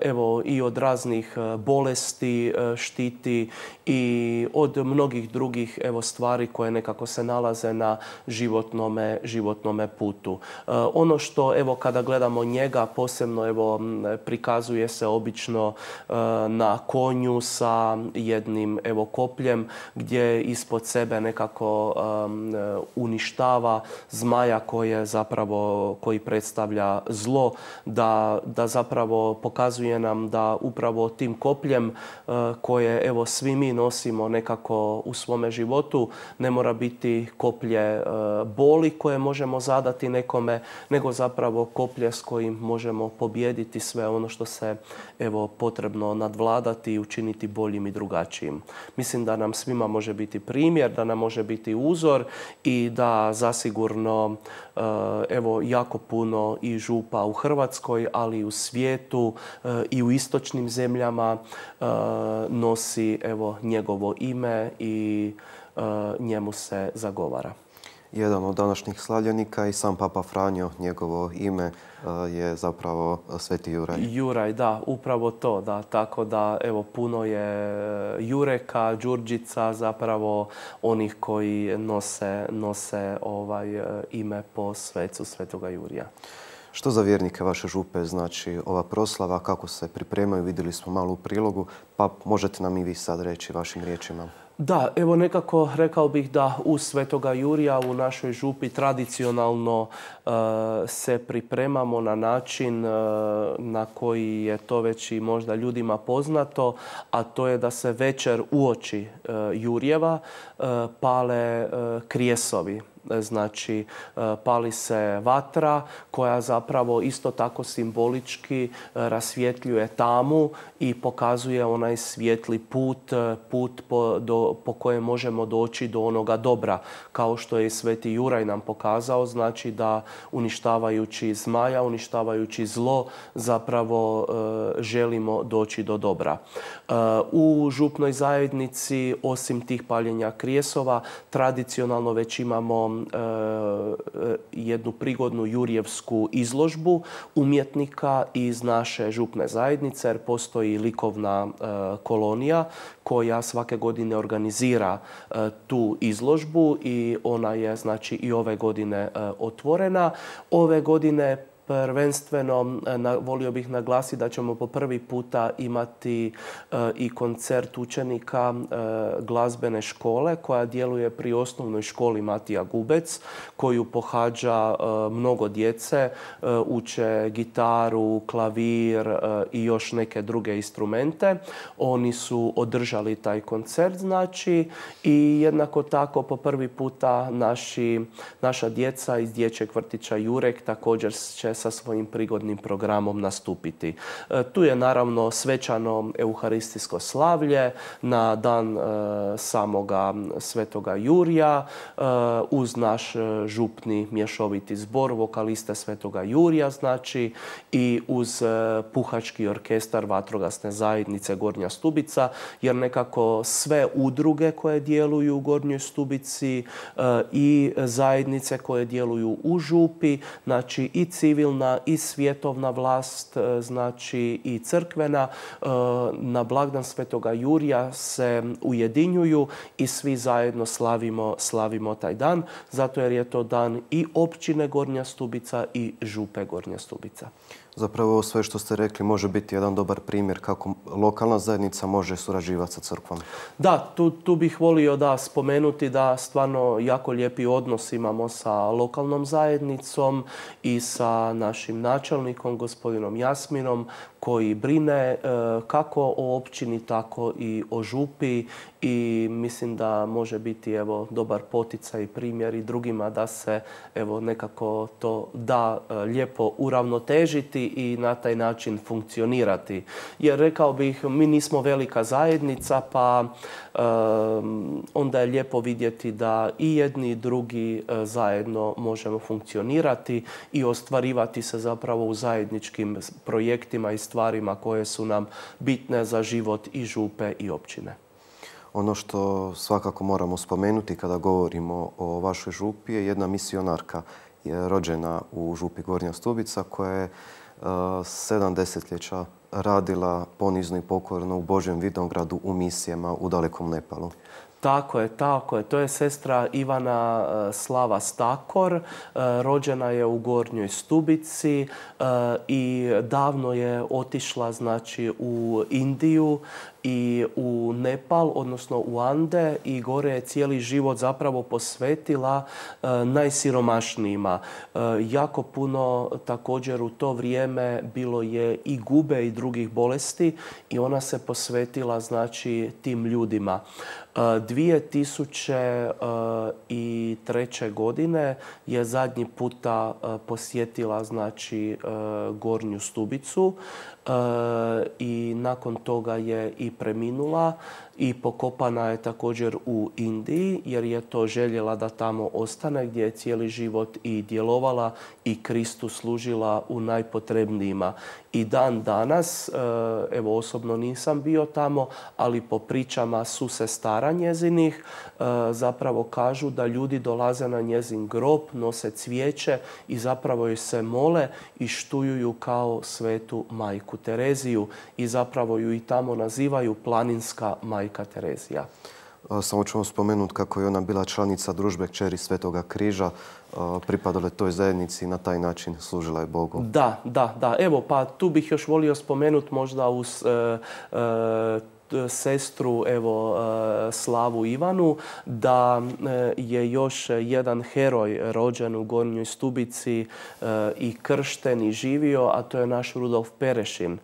evo i od raznih bolesti štiti i od mnogih drugih evo stvari koje nekako se nalaze na životnome, životnome putu. Uh, ono što evo kada gledamo njega posebno evo prikazuje se obično uh, na konju sa jednim evo kopljem gdje ispod sebe nekako um, uništava zmaja koje zapravo koji predstavlja zlo, da, da zapravo pokazuje nam da upravo tim kopljem uh, koje evo svi mi nosimo nekako u svome životu ne mora biti koplje boli koje možemo zadati nekome, nego zapravo koplje s kojim možemo pobijediti sve ono što se evo potrebno nadvladati i učiniti boljim i drugačijim. Mislim da nam svima može biti primjer, da nam može biti uzor i da zasigurno evo jako puno i župa u Hrvatskoj, ali i u svijetu i u istočnim zemljama nosi evo njegovo ime i njemu se zagovara. Jedan od današnjih slavljenika i sam Papa Franjo, njegovo ime je zapravo Sveti Juraj. Juraj, da, upravo to, da, tako da evo puno je Jureka, Đurđica, zapravo onih koji nose, nose ovaj ime po svecu Svetoga Jurija. Što za vjernike vaše župe znači ova proslava, kako se pripremaju, vidjeli smo malo u prilogu, pa možete nam i vi sad reći vašim riječima. Da, evo nekako rekao bih da uz Svetoga Jurija u našoj župi tradicionalno uh, se pripremamo na način uh, na koji je to već i možda ljudima poznato, a to je da se večer uoči uh, Jurjeva uh, pale uh, krijesovi. Znači, pali se vatra koja zapravo isto tako simbolički rasvjetljuje tamu i pokazuje onaj svijetli put, put po, do, po kojem možemo doći do onoga dobra. Kao što je Sveti Juraj nam pokazao, znači da uništavajući zmaja, uništavajući zlo, zapravo e, želimo doći do dobra. E, u župnoj zajednici, osim tih paljenja krijesova, tradicionalno već imamo jednu prigodnu jurjevsku izložbu umjetnika iz naše župne zajednice, jer postoji likovna kolonija koja svake godine organizira tu izložbu i ona je znači i ove godine otvorena. Ove godine prvenstveno volio bih naglasiti da ćemo po prvi puta imati i koncert učenika glazbene škole koja djeluje pri osnovnoj školi Matija Gubec, koju pohađa mnogo djece, uče gitaru, klavir i još neke druge instrumente. Oni su održali taj koncert, znači, i jednako tako po prvi puta naši, naša djeca iz dječjeg vrtića Jurek također će sa svojim prigodnim programom nastupiti. Tu je naravno svečano euharistijsko slavlje na dan samoga Svetoga Jurija uz naš župni mješoviti zbor vokaliste Svetoga Jurija, znači, i uz puhački orkestar vatrogasne zajednice Gornja Stubica, jer nekako sve udruge koje djeluju u Gornjoj Stubici i zajednice koje djeluju u župi, znači i civilna i svjetovna vlast, znači i crkvena, na blagdan Svetoga Jurija se ujedinjuju i svi zajedno slavimo, slavimo taj dan, zato jer je to dan i općine Gornja Stubica i župe Gornja Stubica. Zapravo sve što ste rekli može biti jedan dobar primjer kako lokalna zajednica može surađivati sa crkvom. Da, tu, tu bih volio da spomenuti da stvarno jako lijepi odnos imamo sa lokalnom zajednicom i sa našim načelnikom, gospodinom Jasminom, koji brine kako o općini, tako i o župi, i mislim da može biti evo dobar poticaj i primjer i drugima da se evo nekako to da lijepo uravnotežiti i na taj način funkcionirati. Jer rekao bih, mi nismo velika zajednica, pa um, onda je lijepo vidjeti da i jedni i drugi uh, zajedno možemo funkcionirati i ostvarivati se zapravo u zajedničkim projektima i stvarima koje su nam bitne za život i župe i općine. Ono što svakako moramo spomenuti kada govorimo o vašoj župi je jedna misionarka je rođena u župi Gornja Stubica koja je uh, sedam desetljeća radila ponizno i pokorno u Božjem Vidogradu u misijama u dalekom Nepalu. Tako je, tako je. To je sestra Ivana Slava Stakor. Rođena je u Gornjoj Stubici i davno je otišla, znači, u Indiju i u Nepal, odnosno u Ande, i gore je cijeli život zapravo posvetila najsiromašnijima. Jako puno također u to vrijeme bilo je i gube i drugih bolesti i ona se posvetila, znači, tim ljudima. dvije tisuće treće. godine je zadnji puta posjetila, znači, Gornju Stubicu i nakon toga je i preminula i pokopana je također u Indiji, jer je to željela da tamo ostane, gdje je cijeli život i djelovala i Kristu služila u najpotrebnijima. I dan danas, evo osobno nisam bio tamo, ali po pričama susestara njezinih zapravo kažu da ljudi dolaze na njezin grob, nose cvijeće i zapravo joj se mole i štujuju kao svetu majku Tereziju i zapravo ju i tamo nazivaju planinska majka Terezija. Samo ću vam spomenuti kako je ona bila članica družbe Kćeri Svetoga Križa, pripadala toj zajednici i na taj način služila je Bogu. Da, da, da. Evo, pa tu bih još volio spomenuti možda uz e, e, sestru, evo, Slavu Ivanu, da je još jedan heroj rođen u Gornjoj Stubici i kršten i živio, a to je naš Rudolf Perešin,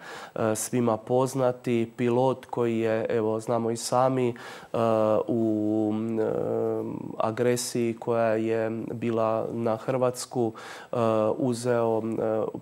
svima poznati pilot koji je, evo, znamo i sami, u agresiji koja je bila na Hrvatsku uzeo,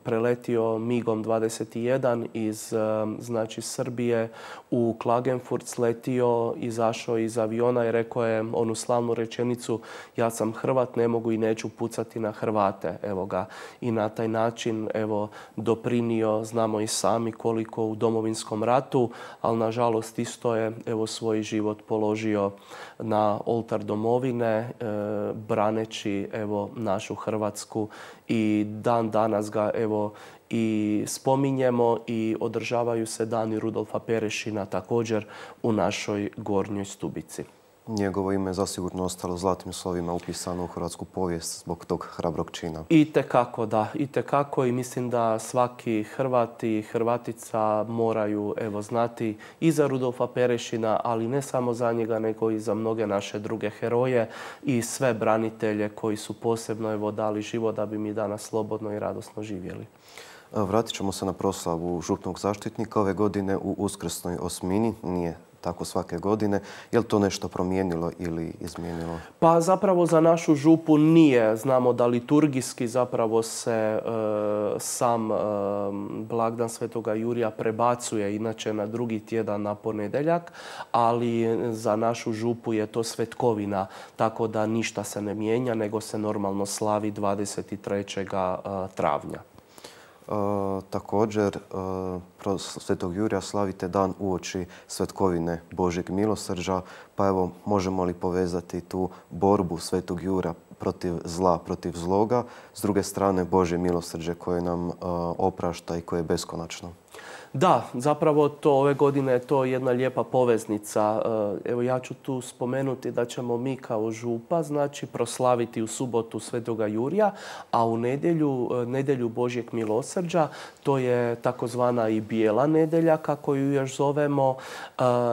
preletio migom dvadeset jedan iz, znači, Srbije u Klagenfurt sletio, izašao iz aviona i rekao je onu slavnu rečenicu: ja sam Hrvat, ne mogu i neću pucati na Hrvate. Evo ga. I na taj način evo, doprinio, znamo i sami koliko u Domovinskom ratu, ali nažalost isto je evo, svoj život položio na oltar domovine, e, braneći evo, našu Hrvatsku, i dan danas ga evo, i spominjemo i održavaju se dani Rudolfa Perešina također u našoj Gornjoj Stubici. Njegovo ime je zasigurno ostalo zlatnim slovima upisano u hrvatsku povijest zbog tog hrabrog čina. Itekako, da. Itekako, i mislim da svaki Hrvat i Hrvatica moraju evo, znati i za Rudolfa Perešina, ali ne samo za njega, nego i za mnoge naše druge heroje i sve branitelje koji su posebno evo, dali život da bi mi danas slobodno i radosno živjeli. Vratit ćemo se na proslavu župnog zaštitnika ove godine u uskrsnoj osmini. Nije tako svake godine. Je li to nešto promijenilo ili izmijenilo? Pa zapravo za našu župu nije. Znamo da liturgijski zapravo se e, sam e, blagdan Svetoga Jurija prebacuje inače na drugi tjedan na ponedjeljak, ali za našu župu je to svetkovina, tako da ništa se ne mijenja, nego se normalno slavi dvadeset trećeg travnja. E, također, e, Svetog Jurija slavite dan uoči svetkovine Božjeg milosrđa, pa evo, možemo li povezati tu borbu Svetog Jura protiv zla, protiv zloga, s druge strane Božje milosrđe koje nam e, oprašta i koje je beskonačno? Da, zapravo to ove godine je to jedna lijepa poveznica. Evo ja ću tu spomenuti da ćemo mi kao župa znači proslaviti u subotu Svetoga Jurija, a u nedjelju, nedjelju Božjeg milosrđa, to je takozvana i bijela nedjelja, kako ju još zovemo,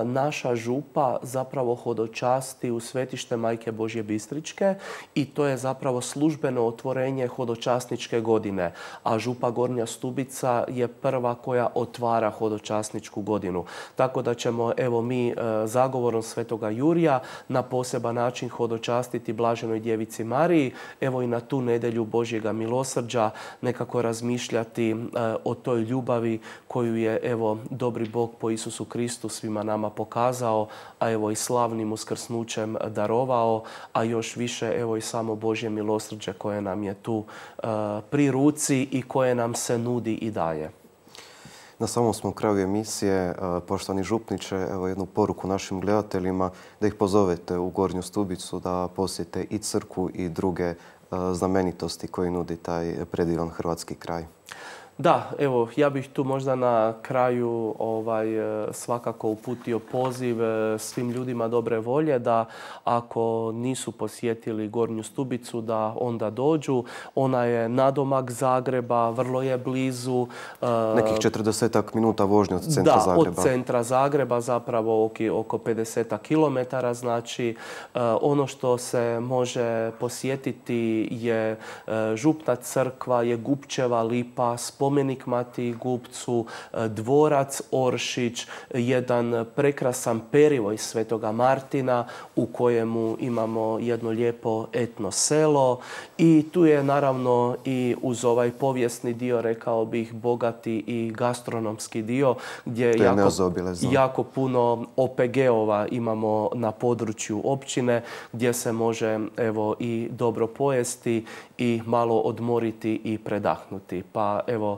naša župa zapravo hodočasti u svetište Majke Božje Bistričke i to je zapravo službeno otvorenje hodočasničke godine, a župa Gornja Stubica je prva koja otvara hodočasničku godinu. Tako da ćemo evo mi zagovorom Svetoga Jurija na poseban način hodočastiti Blaženoj Djevici Mariji, evo i na tu nedjelju Božjega milosrđa nekako razmišljati o toj ljubavi koju je evo dobri Bog po Isusu Kristu svima nama pokazao, a evo i slavnim uskrsnućem darovao, a još više evo i samo Božje milosrđe koje nam je tu pri ruci i koje nam se nudi i daje. Na samom smo kraju emisije. Poštovani župniče, evo jednu poruku našim gledateljima da ih pozovete u Gornju Stubicu da posjete i crkvu i druge znamenitosti koje nudi taj predivan hrvatski kraj. Da, evo, ja bih tu možda na kraju ovaj, svakako uputio poziv svim ljudima dobre volje da ako nisu posjetili Gornju Stubicu da onda dođu. Ona je nadomak Zagreba, vrlo je blizu. Nekih četrdesetak minuta vožnje od centra da, Zagreba. Da, od centra Zagreba zapravo oko pedeset kilometara. Znači, ono što se može posjetiti je župna crkva, je Gupčeva lipa, spomenik Matiji Gupcu, dvorac Oršić, jedan prekrasan perivoj Svetoga Martina u kojemu imamo jedno lijepo etno selo i tu je naravno i uz ovaj povijesni dio, rekao bih, bogati i gastronomski dio gdje je jako, jako puno O P G-ova imamo na području općine gdje se može evo i dobro pojesti i malo odmoriti i predahnuti. Pa evo,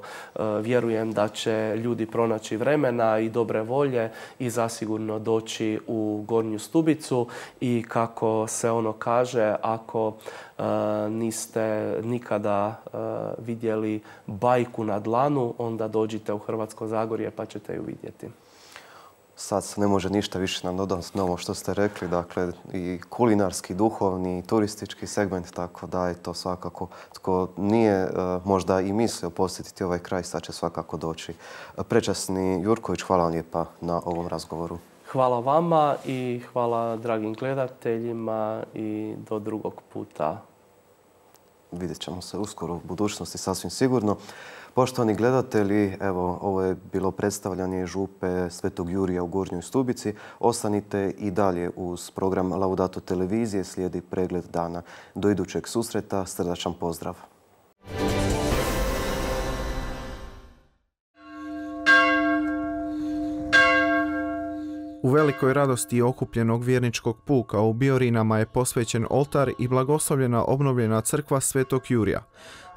vjerujem da će ljudi pronaći vremena i dobre volje i zasigurno doći u Gornju Stubicu i kako se ono kaže, ako uh, niste nikada uh, vidjeli bajku na dlanu, onda dođite u Hrvatsko Zagorje pa ćete ju vidjeti. Sad se ne može ništa više nam dodati na ovo što ste rekli. Dakle, i kulinarski, duhovni, i turistički segment, tako da je to svakako. Tko nije uh, možda i mislio posjetiti ovaj kraj, sad će svakako doći. Prečasni Jurković, hvala vam lijepa na ovom razgovoru. Hvala vama i hvala dragim gledateljima i do drugog puta. Vidjet ćemo se uskoro u budućnosti, sasvim sigurno. Poštovani gledatelji, evo, ovo je bilo predstavljanje župe Svetog Jurija u Gornjoj Stubici. Ostanite i dalje uz program Laudato televizije, slijedi pregled dana. Do idućeg susreta, srdačan pozdrav. U velikoj radosti okupljenog vjerničkog puka u Biorinama je posvećen oltar i blagoslovljena obnovljena crkva Svetog Jurija.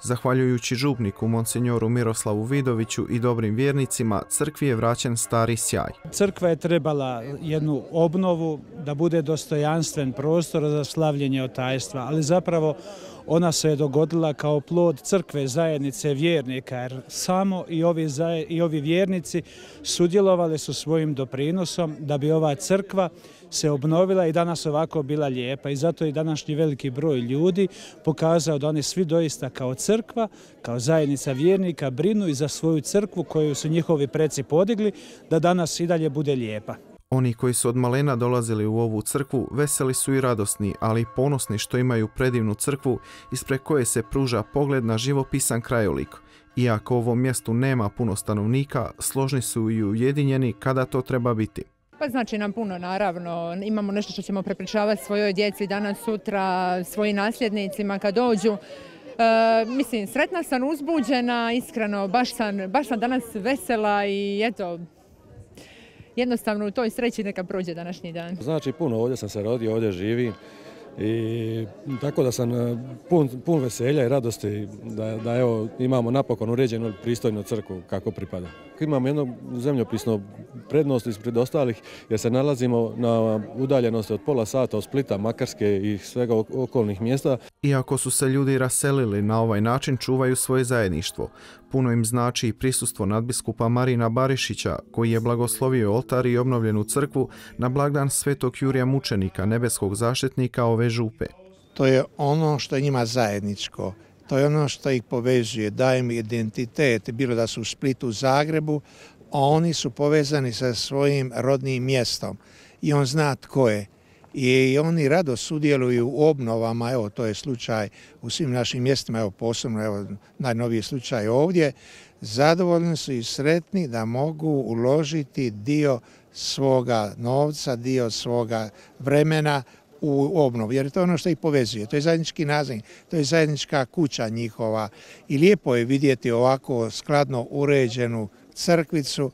Zahvaljujući župniku monsinjoru Miroslavu Vidoviću i dobrim vjernicima, crkvi je vraćen stari sjaj. Crkva je trebala jednu obnovu da bude dostojanstven prostor za slavljenje otajstva, ali zapravo ona se je dogodila kao plod crkve zajednice vjernika, jer samo i ovi, i ovi vjernici sudjelovali su svojim doprinosom da bi ova crkva se obnovila i danas ovako bila lijepa. I zato je današnji veliki broj ljudi pokazao da oni svi doista kao crkva, kao zajednica vjernika brinu i za svoju crkvu koju su njihovi preci podigli, da danas i dalje bude lijepa. Oni koji su od malena dolazili u ovu crkvu veseli su i radosni, ali i ponosni što imaju predivnu crkvu ispred koje se pruža pogled na živopisan krajolik. Iako u ovom mjestu nema puno stanovnika, složni su i ujedinjeni kada to treba biti. Pa znači nam puno, naravno. Imamo nešto što ćemo prepričavati svojoj djeci danas, sutra, svojim nasljednicima kad dođu. E, mislim, sretna sam, uzbuđena, iskreno, baš sam, baš sam danas vesela i eto, jednostavno u toj sreći neka prođe današnji dan. Znači puno, ovdje sam se rodio, ovdje živim i tako da sam pun, pun veselja i radosti da, da evo, imamo napokon uređenu pristojnu crkvu kako pripada. Imamo jednu zemljopisnu prednost ispred ostalih jer se nalazimo na udaljenosti od pola sata od Splita, Makarske i svega okolnih mjesta. Iako su se ljudi raselili, na ovaj način čuvaju svoje zajedništvo. Puno im znači i prisustvo nadbiskupa Marina Barišića, koji je blagoslovio oltar i obnovljenu crkvu na blagdan Svetog Jurija Mučenika, nebeskog zaštitnika ove župe. To je ono što je njima zajedničko. To je ono što ih povezuje, daje im identitet, bilo da su u Splitu, Zagrebu, a oni su povezani sa svojim rodnim mjestom i on zna tko je. I oni rado sudjeluju u obnovama, evo to je slučaj u svim našim mjestima, evo posebno evo, najnoviji slučaj ovdje. Zadovoljni su i sretni da mogu uložiti dio svoga novca, dio svoga vremena u obnovu, jer to je ono što ih povezuje. To je zajednički nazivnik, to je zajednička kuća njihova i lijepo je vidjeti ovako skladno uređenu crkvicu.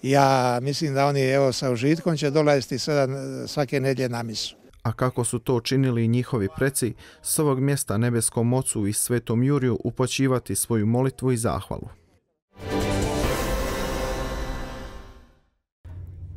Ja mislim da oni evo sa užitkom će dolaziti sada svake nedjelje na misu. A kako su to činili i njihovi preci, s ovog mjesta nebeskom ocu i Svetom Juriju upućivati svoju molitvu i zahvalu.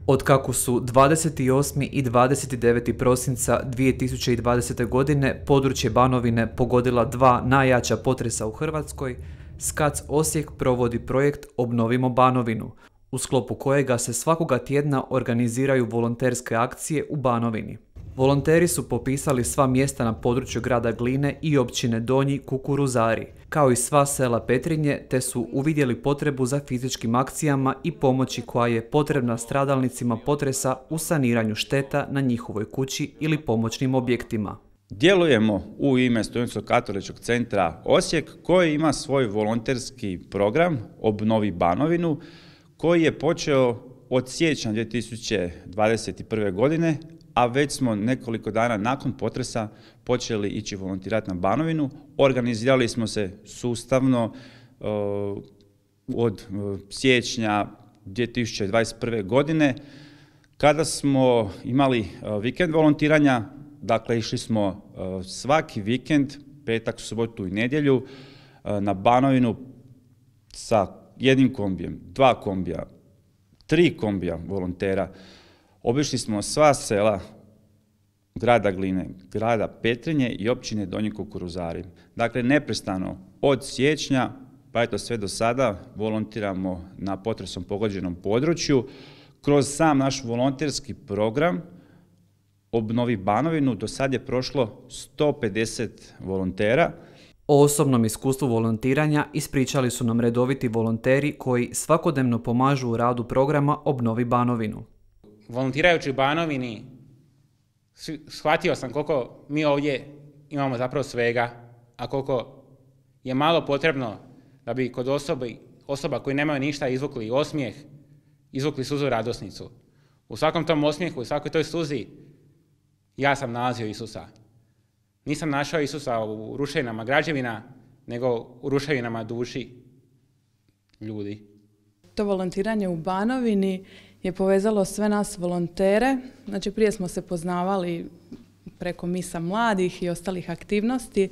Otkako su dvadeset osmi i dvadeset deveti prosinca dvije tisuće dvadesete. godine područje Banovine pogodila dva najjača potresa u Hrvatskoj, S K A C Osijek provodi projekt Obnovimo Banovinu, u sklopu kojega se svakoga tjedna organiziraju volonterske akcije u Banovini. Volonteri su popisali sva mjesta na području grada Gline i općine Donji Kukuruzari, kao i sva sela Petrinje, te su uvidjeli potrebu za fizičkim akcijama i pomoći koja je potrebna stradalnicima potresa u saniranju šteta na njihovoj kući ili pomoćnim objektima. Djelujemo u ime Studentskog katoličkog centra Osijek koji ima svoj volonterski program Obnovi Banovinu koji je počeo od siječnja dvije tisuće dvadeset prve. godine, a već smo nekoliko dana nakon potresa počeli ići volontirati na Banovinu. Organizirali smo se sustavno uh, od uh, siječnja dvije tisuće dvadeset prve. godine kada smo imali uh, vikend volontiranja. Dakle, išli smo uh, svaki vikend, petak, subotu i nedjelju uh, na Banovinu sa jednim kombijem, dva kombija, tri kombija volontera. Obišli smo sva sela grada Gline, grada Petrinje i općine Donji Kukuruzari. Dakle, neprestano od siječnja pa eto sve do sada volontiramo na potresom pogođenom području. Kroz sam naš volonterski program Obnovi Banovinu do sad je prošlo sto pedeset volontera. O osobnom iskustvu volontiranja ispričali su nam redoviti volonteri koji svakodnevno pomažu u radu programa Obnovi Banovinu. Volontirajući u Banovini shvatio sam koliko mi ovdje imamo zapravo svega, a koliko je malo potrebno da bi kod osobi, osoba koji nemaju ništa izvukli osmijeh, izvukli suzu radosnicu. U svakom tom osmijehu, u svakoj toj suzi ja sam nalazio Isusa. Nisam našao Isusa u ruševinama građevina, nego u ruševinama duši ljudi. To volontiranje u Banovini je povezalo sve nas volontere. Znači prije smo se poznavali preko misa mladih i ostalih aktivnosti,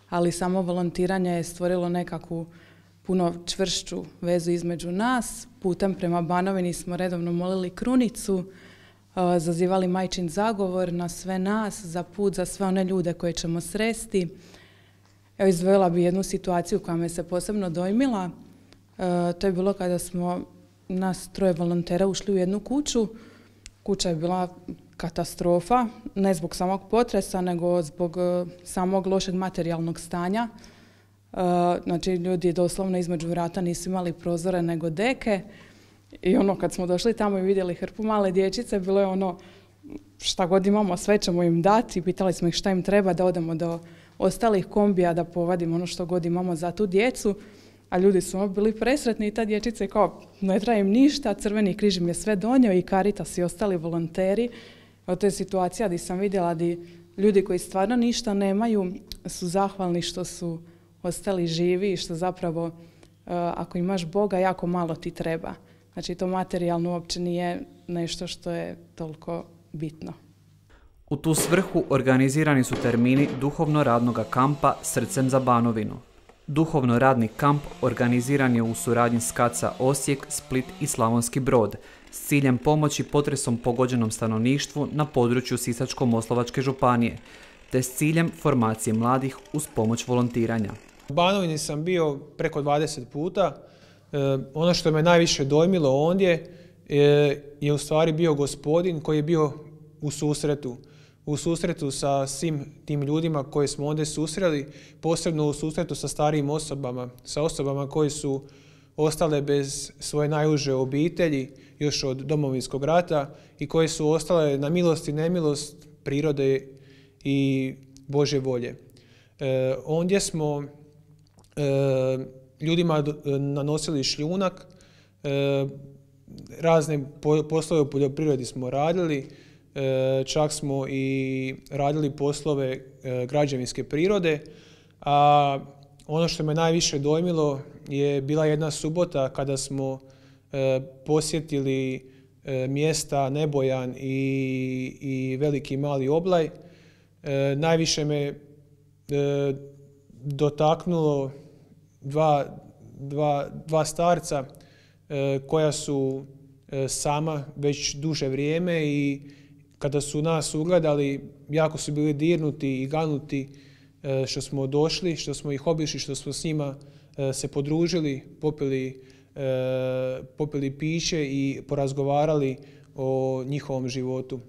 ali samo volontiranje je stvorilo nekakvu puno čvršću vezu između nas. Putem prema Banovini smo redovno molili krunicu, zazivali majčin zagovor na sve nas, za put, za sve one ljude koje ćemo sresti. Evo, izdvojila bi jednu situaciju koja me se posebno dojmila. To je bilo kada smo nas troje volontera ušli u jednu kuću. Kuća je bila katastrofa, ne zbog samog potresa, nego zbog samog lošeg materijalnog stanja. Znači, ljudi doslovno između vrata nisu imali prozore nego deke. I ono, kad smo došli tamo i vidjeli hrpu male dječice, bilo je ono, šta god imamo, sve ćemo im dati. Pitali smo ih šta im treba, da odemo do ostalih kombija, da povadimo ono što god imamo za tu djecu. A ljudi su bili presretni i ta dječica je kao, ne treba im ništa, Crveni križ im je sve donio i Caritas i ostali volonteri. To je situacija gdje sam vidjela da ljudi koji stvarno ništa nemaju su zahvalni što su ostali živi i što zapravo, ako imaš Boga, jako malo ti treba. Znači, to materijalno uopće nije nešto što je toliko bitno. U tu svrhu organizirani su termini duhovno-radnog kampa Srcem za Banovinu. Duhovno-radni kamp organiziran je u suradnji s K A C A Osijek, Split i Slavonski Brod s ciljem pomoći potresom pogođenom stanovništvu na području Sisačko-moslavačke županije, te s ciljem formacije mladih uz pomoć volontiranja. U Banovini sam bio preko dvadeset puta. E, ono što me najviše dojmilo ondje je, je u stvari bio gospodin koji je bio u susretu. U susretu sa svim tim ljudima koje smo ondje susreli, posebno u susretu sa starijim osobama, sa osobama koji su ostale bez svoje najuže obitelji još od Domovinskog rata i koje su ostale na milost i nemilost prirode i Božje volje. E, ondje smo e, ljudima nanosili šljunak, e, razne poslove u poljoprivredi smo radili, e, čak smo i radili poslove e, građevinske prirode, a ono što me najviše dojmilo je bila jedna subota kada smo e, posjetili e, mjesta Nebojan i, i Veliki Mali Oblaj. E, najviše me e, dotaknulo dva, dva, dva starca e, koja su e, sama već duže vrijeme i kada su nas ugledali, jako su bili dirnuti i ganuti e, što smo došli, što smo ih obišli, što smo s njima e, se podružili, popili, e, popili piće i porazgovarali o njihovom životu.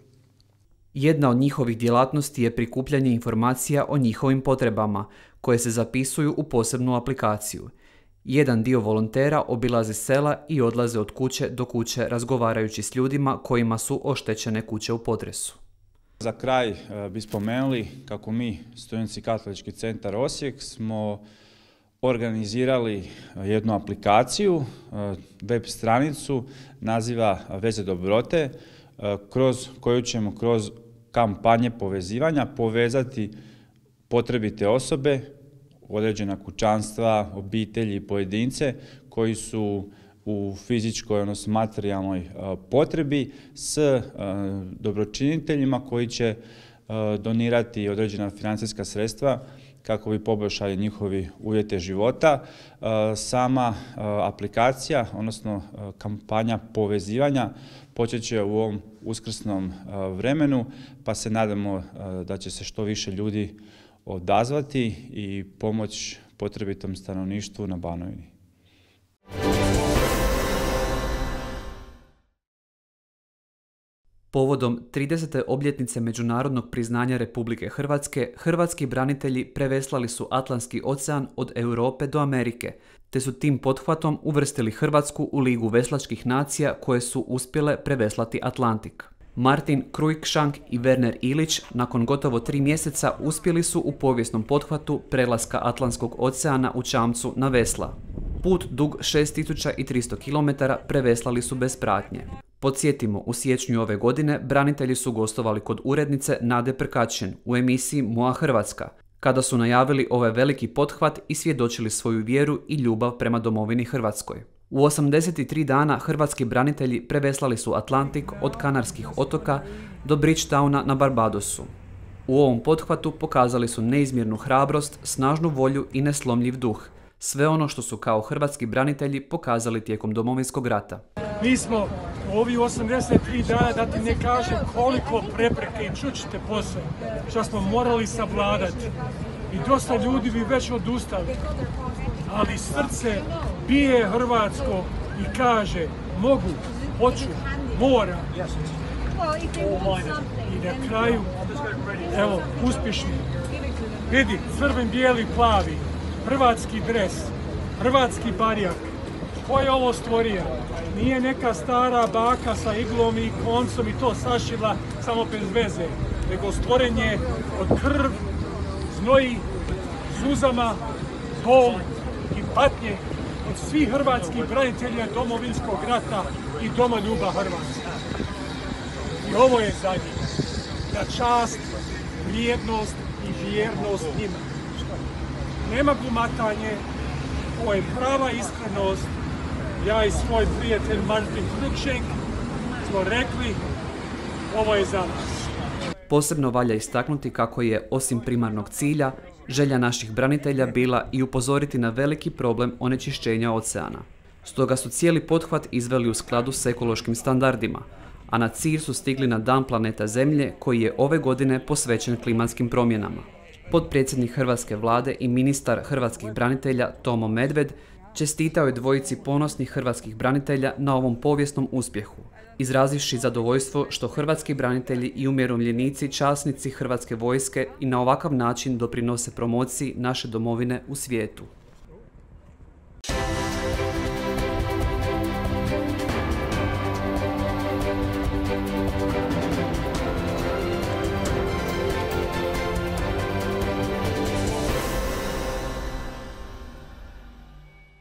Jedna od njihovih djelatnosti je prikupljanje informacija o njihovim potrebama, koje se zapisuju u posebnu aplikaciju. Jedan dio volontera obilazi sela i odlaze od kuće do kuće razgovarajući s ljudima kojima su oštećene kuće u potresu. Za kraj bi spomenuli kako mi, Studentski katolički centar Osijek, smo organizirali jednu aplikaciju, web stranicu, naziva Veze dobrote, kroz koju ćemo kroz kampanje povezivanja povezati potrebite osobe, određena kućanstva, obitelji i pojedince koji su u fizičkoj, odnosno materijalnoj potrebi s dobročiniteljima koji će donirati određena financijska sredstva kako bi poboljšali njihovi uvjete života. Sama aplikacija, odnosno kampanja povezivanja, počet će u ovom uskrsnom vremenu, pa se nadamo da će se što više ljudi odazvati i pomoć potrebitom stanovništvu na Banovini. Povodom tridesete obljetnice međunarodnog priznanja Republike Hrvatske, hrvatski branitelji preveslali su Atlantski ocean od Europe do Amerike, te su tim pothvatom uvrstili Hrvatsku u Ligu veslačkih nacija koje su uspjele preveslati Atlantik. Martin Cruikshank i Werner Ilić nakon gotovo tri mjeseca uspjeli su u povijesnom pothvatu prelaska Atlantskog oceana u čamcu na vesla. Put dug šest tisuća tristo kilometara preveslali su bez pratnje. Podsjetimo, u siječnju ove godine branitelji su gostovali kod urednice Nade Prkačin u emisiji Moja Hrvatska, kada su najavili ovaj veliki pothvat i svjedočili svoju vjeru i ljubav prema domovini Hrvatskoj. U osamdeset tri dana hrvatski branitelji preveslali su Atlantik od Kanarskih otoka do Bridgetowna na Barbadosu. U ovom pothvatu pokazali su neizmjernu hrabrost, snažnu volju i neslomljiv duh. Sve ono što su kao hrvatski branitelji pokazali tijekom Domovinskog rata. Mi smo u ovih osamdeset tri dana, da ti ne kažem koliko prepreke, i čućete posle, što smo morali savladati. I dosta ljudi bi već odustali. Ali srce bije hrvatsko i kaže mogu, hoću, moram. I na kraju, evo, uspješni. Vidi, crven, bijeli, plavi, hrvatski dres, hrvatski barjak. Ko je ovo stvorio? Nije neka stara baka sa iglom i koncom i to sašila samo bez veze, nego stvorenje od krv, znoji, suzama, bol i patnje od svih hrvatskih branitelja Domovinskog rata i domoljuba Hrvatske. I ovo je za njih, da čast, vrijednost i vjernost njima. Nema glumatanje, ovo je prava iskrenost. Ja i svoj prijatelj Martin Krukšenk smo rekli, ovo je za nas. Posebno valja istaknuti kako je, osim primarnog cilja, želja naših branitelja bila i upozoriti na veliki problem onečišćenja oceana. Stoga su cijeli pothvat izveli u skladu s ekološkim standardima, a na cilj su stigli na Dan planeta Zemlje koji je ove godine posvećen klimatskim promjenama. Potpredsjednik Hrvatske vlade i ministar hrvatskih branitelja Tomo Medved čestitao je dvojici ponosnih hrvatskih branitelja na ovom povijesnom uspjehu, izrazivši zadovoljstvo što hrvatski branitelji i umirovljenici, časnici Hrvatske vojske i na ovakav način doprinose promociji naše domovine u svijetu.